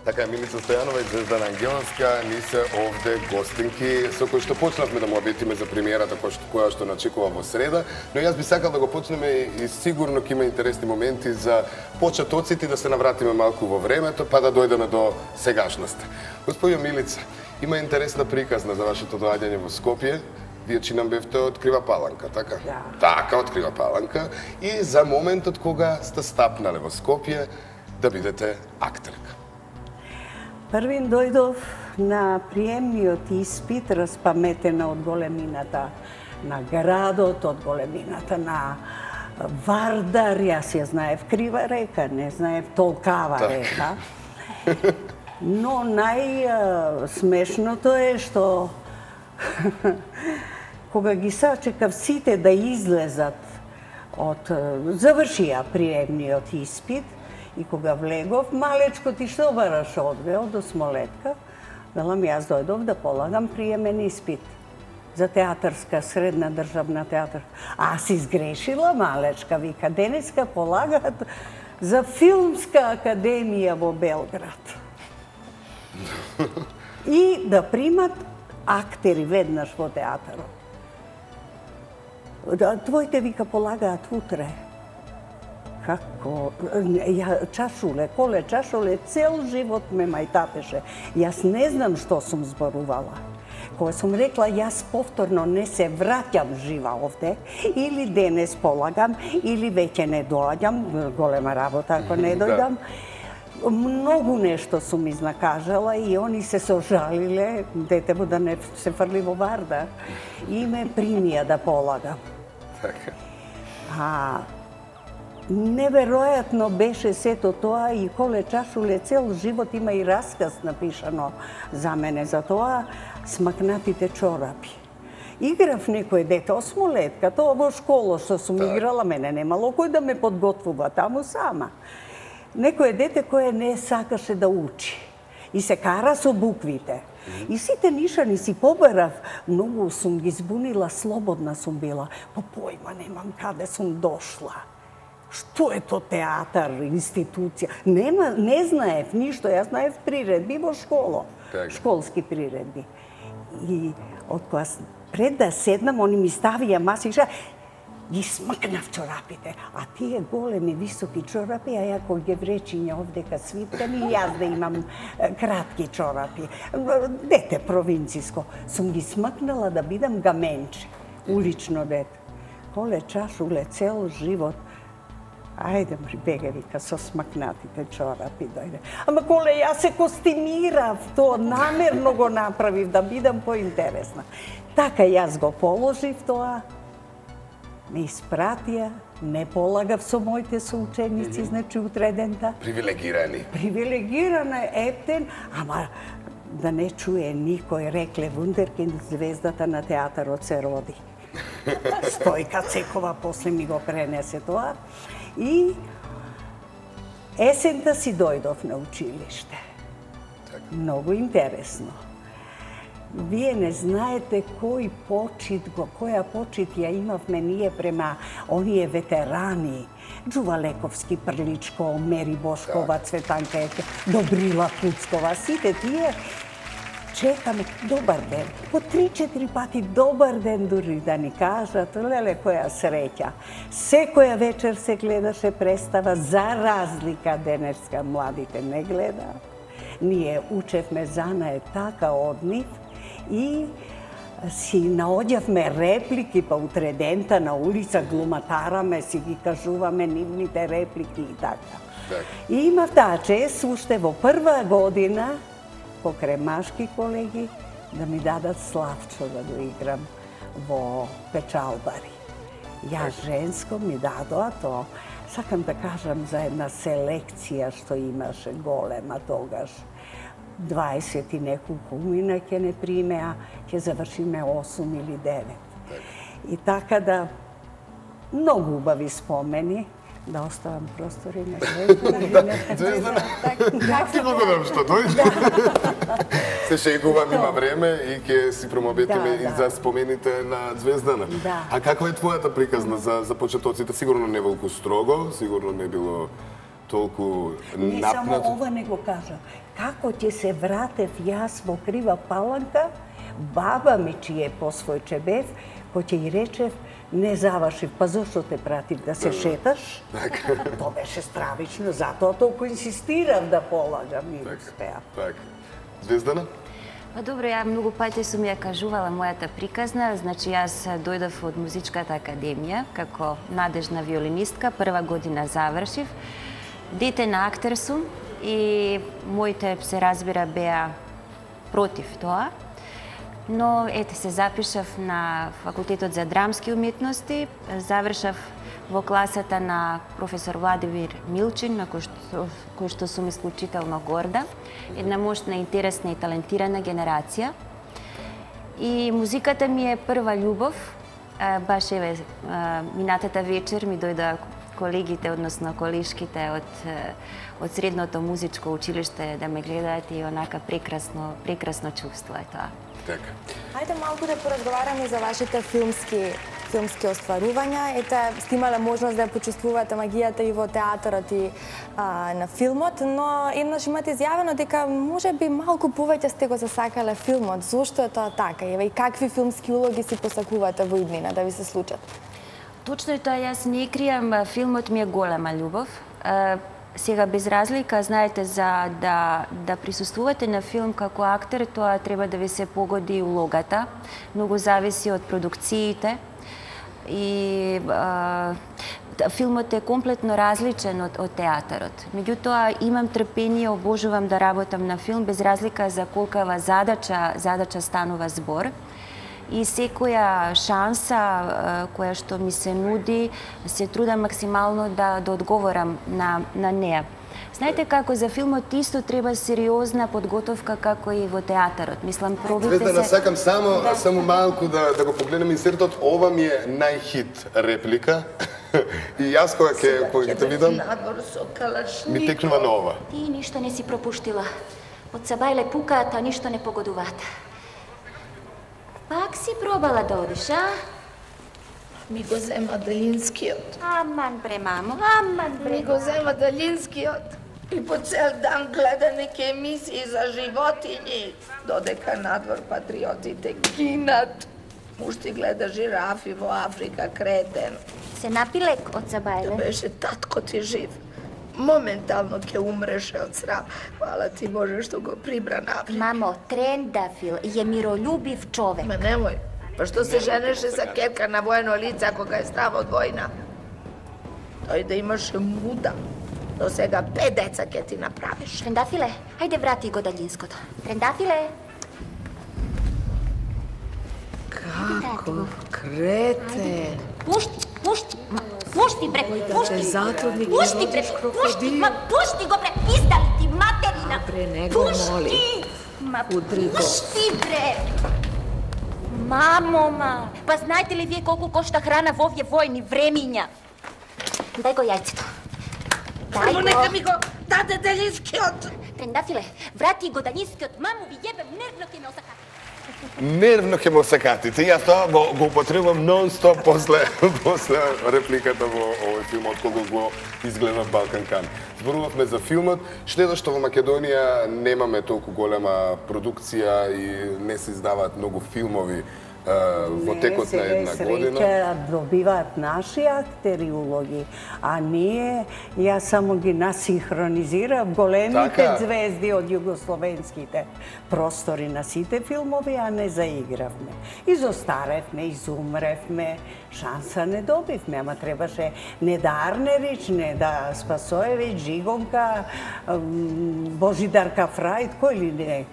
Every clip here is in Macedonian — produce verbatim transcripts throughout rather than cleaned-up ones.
Така е, Милица Стојанова и Звездана Ангеловска ни се овде гостинки со кои што почнавме да му обетиме за премиерата која што начекува во среда, но јас би сакал да го почнеме и сигурно ќе има интересни моменти за почетоците и да се навратиме малку во времето, па да дојдеме до сегашноста. Господјо Милица, има интересна приказна за вашето доаѓање во Скопје. Вие чинам бевте од Крива Паланка, така? Да. Така, од Крива Паланка. И за моментот кога сте стапнале во Скопје да бидете актерка. Првин дојдов на приемниот испит, распаметена од големината на градот, од големината на Вардар, јас ја знаев Крива река, не знаев Толкава река. Но најсмешното е што кога ги сачекав сите да излезат од завршија приемниот испит, и кога влегов, малечко ти што бараш одве од осмолетка, велам јас дојдов да полагам приемен испит за театарска, средна државна театарска. Аз изгрешила малечка, вика, денеска полагат за филмска академија во Белград. И да примат актери веднаш во театарот. Твоите, вика, полагаат утре. Како? Ја чашуле, коле чашуле, цел живот ме мајтапеше. Јас не знам што сум зборувала. Кога сум рекла, јас повторно не се враќам жива овде, или денес полагам, или веќе не доаѓам, голема работа ако не дојдам. Многу нешто сум изнакажала и они се сожалиле, детево да не се фрли во Вардар. И ме примија да полагам. А неверојатно беше сето тоа и коле чашуле цел живот има и расказ напишано за мене за тоа, смакнатите чорапи. Играв некој дете, осмолетка, тоа во школа што сум играла, мене немало кој да ме подготвува таму сама. Некој дете кое не сакаше да учи и се кара со буквите. И сите нишани си побарав, многу сум ги збунила, слободна сум била, по појма немам каде сум дошла. Што е то театар, институција? Нема, не знаев ништо, јас знаев приредби во школа, школски приредби. И од кога пред да седнам, они ми ставија маси, ги смакнав чорапите, а тие големи, високи чорапи, а ја кој гевречиња овдека свиткани, и јас да имам кратки чорапи. Дете провинциско. Сум ги смакнала да бидам гаменче, улично дете. Коле чашуле цел живот. Ајде, беге, вика, со смакнатите чорапи дојде. Ама коле јас се костимирав, то намерно го направив да бидам поинтересна. Така јас го положив тоа, ме испратија, не полагав со моите соученици, значи утредента. Привилегирани. Привилегирана ептен, ама да не чуе никој, рекле вундеркинд, звездата на театарот се роди. Стојка Цекова после ми го пренесе тоа. И есента си дојдов на училиште. Многу интересно. Вие не знаете кој почит го, која почит ја имавме ние према оние ветерани. Џува Лековски, Прличко, Мери Бошкова, Цветанка Ете, Добрила Пуцкова, сите тие чекаме добар ден. По три-четири пати добар ден дури да ни кажат, леле која среќа. Секоја вечер се гледаше представа, за разлика денеска младите не гледаат. Ние учевме занае така од нив и си наоѓавме реплики, па утредента на улица глуматараме, си ги кажуваме нивните реплики и така. И имав таа чест уште во прва година покрај машки колеги да ми дадат Славчо да го играм во Печалбари. Ја женско ми дадоа тоа. Сакам да кажам за една селекција што имаше голема тогаш. дваесет и неколку умина ќе не примеа, ќе завршиме осум или девет. И така да, многу убави спомени, да оставам простори на Звездана. Звездана, ти благодарам што дојде. Се шегувам, има време и ќе си промобетиме и за спомените на Звездана. А каква е твојата приказна за почетоците? Сигурно не волку строго, сигурно не било толку Не напнат. само ова не го кажа. Како ќе се вратев јас во Крива Паланка, баба ми чије посвојче бев, кој ќе и речев, не завршив, па зошто те пратив да се шеташ? Тоа беше стравично, затоа толку инсистирав да полагам и успеав. Така. Звездана? Па добро, ја многу пати сум ја кажувала мојата приказна, значи јас дојдов од Музичката академија како надежна виолинистка, прва година завршив. Дете на актер сум и моите, се разбира, беа против тоа. Но ете се запишав на факултетот за драмски уметности, завршав во класата на професор Владимир Милчин, на кој што, кој што сум исклучително горда. Една мощна, интересна и талентирана генерација. И музиката ми е прва љубов. Баш еве минатата вечер ми дојда колегите, односно колешките од од средното музичко училиште да ме гледаат и онака прекрасно, прекрасно чувство е тоа. Така. Хајде малку да поразговараме за вашите филмски филмски остварувања. Ете, сте имале можност да ја почувствувате магијата и во театарот и а, на филмот, но еднаш имате изјавено дека може би малку повеќе сте го засакале филмот. Зошто е тоа така? Еве, и какви филмски улоги си посакувате во иднина да ви се случат? Точно е тоа, јас не кријам, филмот ми е голема љубов. Сега, без разлика, знаете, за да, да присуствувате на филм како актер, тоа треба да ви се погоди улогата. Многу зависи од продукциите. И а, филмот е комплетно различен од, од театарот. Меѓутоа, имам трпение, обожувам да работам на филм, без разлика за колкава задача, задача станува збор. И секоја шанса која што ми се нуди, се трудам максимално да, да одговорам на, на неа. Знаете како за филмот исто треба сериозна подготовка како и во театарот. Мислам, пробите се... Звездана, сакам само, да. само малку да, да го погледнем инсертот. Ова ми е најхит реплика. И јас кога ќе кога ќе те видам, ми текнува на ова. Ти ништо не си пропуштила. Од Сабајле пукаат, а ништо не погодуваат. Пак си пробала да одиш, а? Ми го зема Далинскиот. Аман бре, мамо, аман бре. Ми го зема Далинскиот. И по цел дан гледа неки емисии за животињи. Додека надвор патриотите гинат. Мушти гледа жирафи во Африка, кретен. Се напи лек од Сабајле? Беше татко ти жив. Моментално ќе умреше од срам. Хвала ти Боже што го прибра на Африка. Мамо, Трендафил е миролюбив човек. Ме немој. Па што се женеше за кетка на воено лица кога е страв од војна? Тој да имаше муда. До сега пет деца ќе ти направиш. Трендафиле, ајде врати го Далинското. Трендафиле. Како кретен. Пушти, пушти, пушти бре, пушти. Затрудник, пушти бре, пушти, ма пушти го бре, пиздали ти материна. Бре, не го моли. Ма Удри го. пушти бре. Мамо, ма, па знаете ли вие колку кошта храна во овие војни времиња? Дај го јајцето. Дај Само го. нека ми го даде Далинскиот. Трендафиле, врати го Далинскиот, маму ви јебем, нервно ќе ме осакати. Нервно ќе ме осакатите. Јас тоа го, го употребувам нон-стоп после, после репликата во овој филм, откога го изгледав Балкан Кан. Зборувавме за филмот, штета што во Македонија немаме толку голема продукција и не се издаваат многу филмови во текот на една година. Не, добиваат наши актери улоги, а ние, јас само ги насинхронизирав големите Така. звезди од југословенските простори на сите филмови, а не заигравме. Изостаревме, изумревме, шанса не добивме, ама требаше Неда Арнерич, Неда Спасоевиќ, Жигонка, Божидар Кафрајд, кој ли не.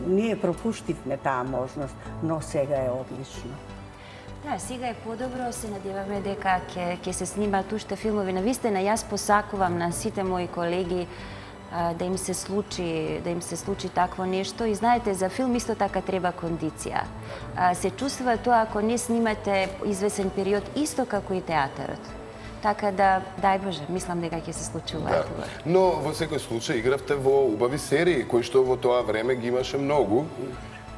Ние пропуштивме таа можност, но сега е одлично. Да, сега е подобро, се надеваме дека ќе ќе се снимаат уште филмови. Навистина, јас посакувам на сите мои колеги а, да им се случи, да им се случи такво нешто. И знаете, за филм исто така треба кондиција. А, се чувствува тоа ако не снимате извесен период, исто како и театарот. Така да, дај Боже, мислам дека ќе се случи ова. Да. Но во секој случај игравте во убави серии, кои што во тоа време ги имаше многу.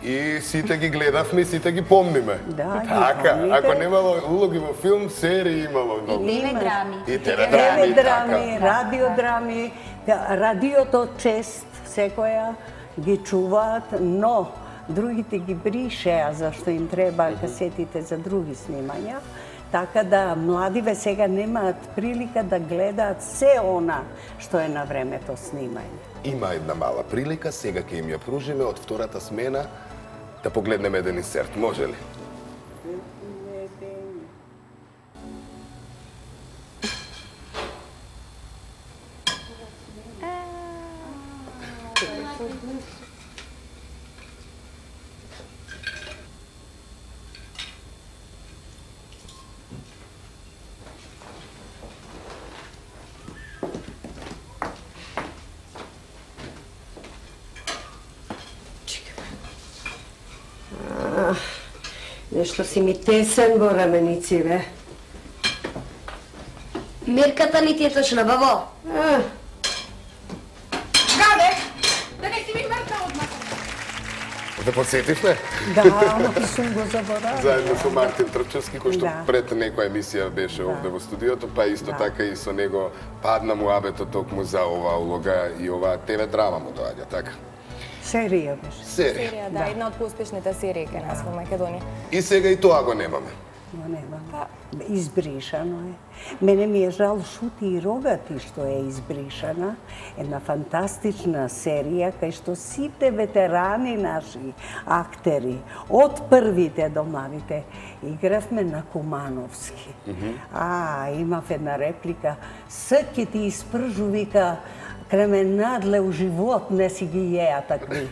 И сите ги гледавме и сите ги помниме. Да, ги така, помните. ако немало улоги во филм, серии имало многу. И теледрами. И теледрами, Теледрами, така. радиодрами, радиото чест секоја ги чуваат, но другите ги бришеа зашто им треба касетите за други снимања. Така да младиве сега немаат прилика да гледаат се она што е на времето снимање. Има една мала прилика, сега ќе им ја пружиме од втората смена да погледнеме еден инсерт. Може ли? Нешто си ми тесен во раменициве. Мерката ни ти е точна, бабо. А, Гаде, да не си ми мерка одмah. Да подсетивме? Да, ама ти сум го заборавила. Заедно со Мартин Трпчевски, кој што Да. пред некоја емисија беше овде во студиото, па исто Да. така и со него падна му абето токму за оваа улога и оваа Те Ве драма му доаѓа, така? Серија беше. Серија. Серија, да, една од поуспешните серии кај нас во Македонија. И сега и тоа го немаме. Го немам. Избришано е. Мене ми е жал Шути и Рогати што е избришана. Една фантастична серија кај што сите ветерани наши актери, од првите до младите, игравме на Кумановски. А, имав една реплика. Сак ќе ти испржу, вика, кременадле у живот не си ги јеа такви.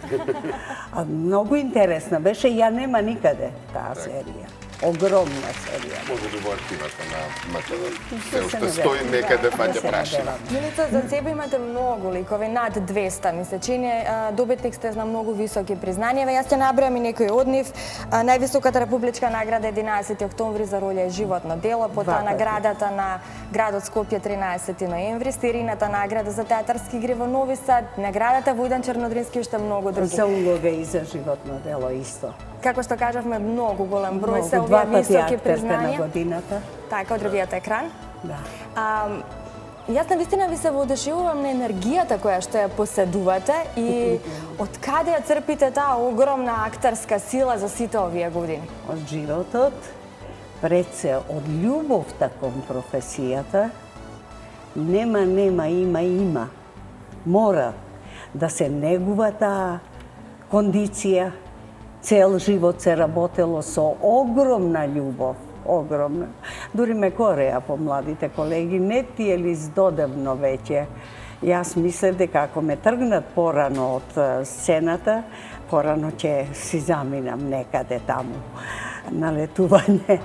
А, многу интересна беше, ја нема никаде таа серија. Огромна серија. Може би во архивата на МТВ. Се Се уште надевам. стои некаде Да, паѓа да се прашина. надевам. Милица, за себе имате многу ликови, над двеста, ми се чини. А, Добитник сте на многу високи признањива. Јас ќе набројам и некои од нив. А, Највисоката републичка награда единаесети октомври за роља и животно дело, потоа Два пати. наградата на градот Скопје тринаесети ноември, Стирината награда за театарски игри во Нови Сад, наградата Војдан Чернодрински и уште многу други. За улога и за животно дело исто. Како што кажавме, многу голем број Многу, се два овие пати високи актерка на признања. годината. Така, од ревијата Екран. Да. А, јас навистина ви се воодушевувам на енергијата која што ја поседувате и од каде ја црпите таа огромна актерска сила за сите овие години? Од животот, пред се од љубовта кон професијата, нема, нема, има, има. Мора да се негува таа кондиција. Цел живот се работело со огромна љубов, огромна. Дури ме кореа по младите колеги, не ти е ли здодевно веќе? Јас мислев дека ако ме тргнат порано од е, сцената, порано ќе си заминам некаде таму на летување.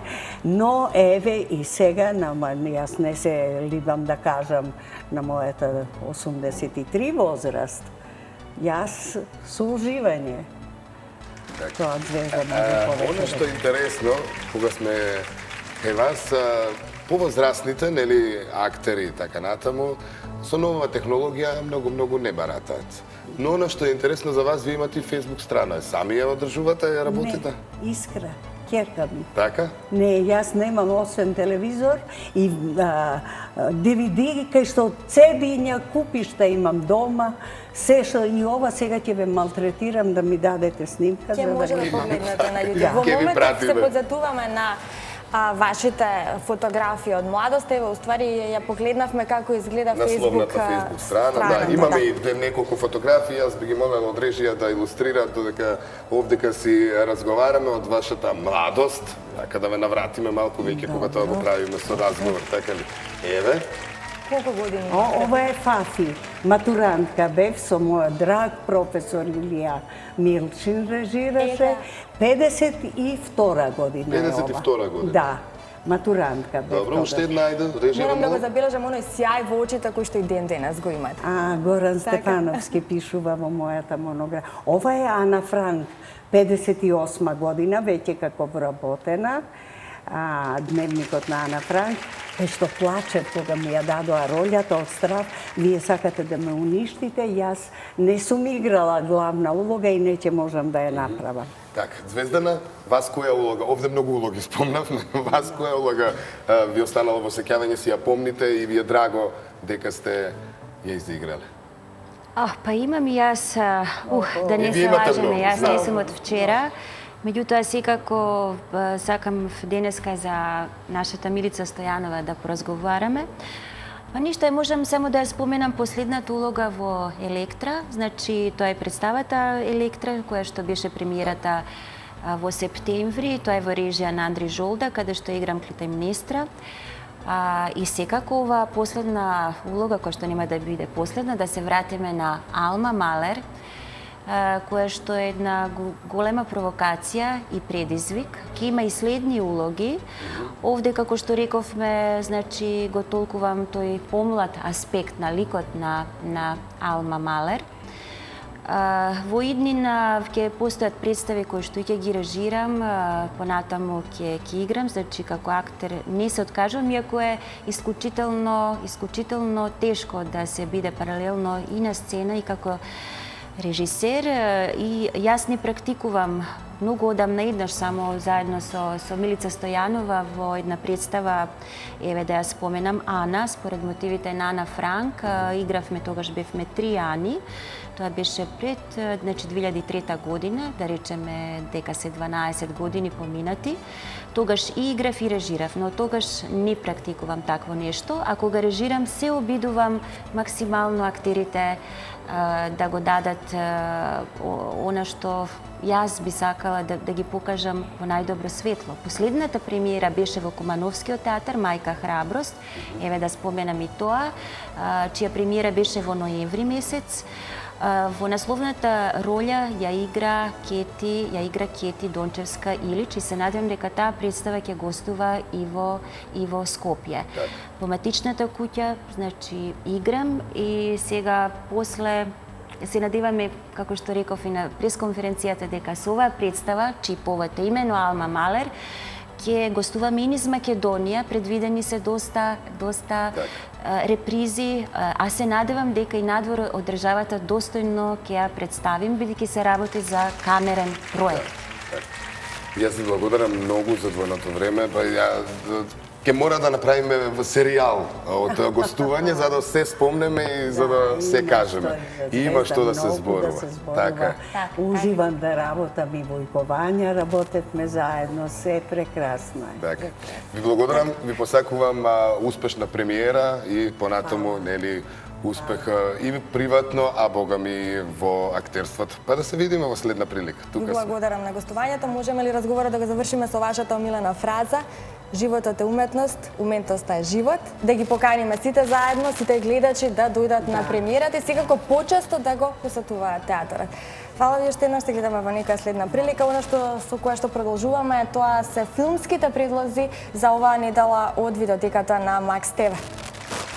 Но еве и сега, нама јас не се либам да кажам на мојата осумдесет и три возраст, јас со уживање тоа звездам А, повеќе. Оно што е интересно, кога сме кај вас, а, повозрастните, нели, актери и така натаму, со новава технологија многу, многу не баратаат. Но оно што е интересно за вас, вие имате и Facebook страна. Сами ја одржувате, ја работите? Не, Искра, ќерка ми. Така? Не, јас немам освен телевизор и а, ди ви ди кај што цедиња купиш да имам дома, се што и ова сега ќе ве малтретирам да ми дадете снимка Ќе за може да да ги погледнете на Да. YouTube. Во Ќе ви моментот се пратиме. подзетуваме на а, вашите фотографии од младост. Еве, уствари, ја погледнавме како изгледа Насловната Facebook Facebook страна, да, имаме и де- неколку фотографии, јас би ги молел од режија да илустрираат додека овдека си разговараме од вашата младост, така да ве навратиме малку веќе кога тоа го правиме со разговор, така ли? Еве, Колку години? О, ова е Фафи, матурантка бев со мојот драг професор Илија Милчин режираше, Ева. педесет и втора година е педесет и ова. втора година. Да, матурантка бев добро, уште тогаш. една ајде, режија Морам да го молам. забележам оној сјај во очите кој што и ден денес го имате. А, Горан Така. Стефановски пишува во мојата монографија. Ова е Ана Франк, педесет и осма година, веќе како вработена. а, Дневникот на Ана Франк, кај што плачев кога ми ја дадоа ролјата од страв, вие сакате да ме уништите, јас не сум играла главна улога и не ќе можам да ја направам. Така, Звездана, вас која улога, овде многу улоги спомнав, вас која улога ви останала во сеќавање, си ја помните и ви е драго дека сте ја изиграле? А, па имам и јас, ух, да не се лажеме, јас не сум од вчера. Меѓутоа, секако сакам денеска за нашата Милица Стојанова да поразговараме. Па ништо, можам само да ја споменам последната улога во Електра. Значи, тоа е представата Електра, која што беше премиерата во септември. Тоа е во режија на Андри Жолда, каде што играм Клитемнестра. А, и секако ова последна улога, која што нема да биде последна, да се вратиме на Алма Малер, која што е една голема провокација и предизвик. Ке има и следни улоги. Овде, како што рековме, значи, го толкувам тој помлад аспект на ликот на, на Алма Малер. Во иднина ќе постојат представи кои што ќе ги режирам, понатаму ќе ќе играм, значи како актер не се откажувам, иако е исклучително, исклучително тешко да се биде паралелно и на сцена и како режисер, и јас не практикувам многу одамна еднаш само заедно со, со Милица Стојанова во една представа, еве да ја споменам, Ана, според мотивите на Ана Франк, игравме, тогаш бевме три Ани, тоа беше пред, значи, две илјади и трета година, да речеме дека се дванаесет години поминати. Тогаш и играв и режирав, но тогаш не практикувам такво нешто, а кога режирам се обидувам максимално актерите да го дадат она што јас би сакала да, да ги покажам во најдобро светло. Последната премиера беше во Кумановскиот театар, Мајка Храброст, еве да споменам и тоа, чија премиера беше во ноември месец. Во насловната роља ја игра Кети, ја игра Кети Дончевска Илич и се надевам дека таа представа ќе гостува и во и во Скопје. Во матичната куќа, значи, играм и сега после се надеваме, како што реков и на пресконференцијата, дека со оваа представа, чиповата имено Алма Малер, ќе гостуваме и низ Македонија, предвидени се доста, доста репризи, а се надевам дека и надвор од државата достојно ќе ја представим, бидејќи се работи за камерен проект. Јас ви благодарам многу за двојното време, па ја ќе мора да направиме серијал од гостување за да се спомнеме и за да се кажеме. Има што да се зборува. Така. Уживам да работам и во Икованја, работевме заедно, се прекрасно е. Така. Ви благодарам, ви посакувам успешна премиера и понатаму, нели, успех и приватно, а бога ми во актерството. Па да се видиме во следна прилика. Ви благодарам на гостувањето. Можеме ли разговорот да го завршиме со вашата омилена фраза? Животот е уметност, уметноста е живот. Да ги поканиме сите заедно, сите гледачи да дојдат на премиерата и секако почесто да го посетуваат театарот. Фала ви уште еднаш, се гледаме во некоја следна прилика. Оно што со кое што продолжуваме, тоа се филмските предлози за оваа недела од видеотеката на Макс ТВ.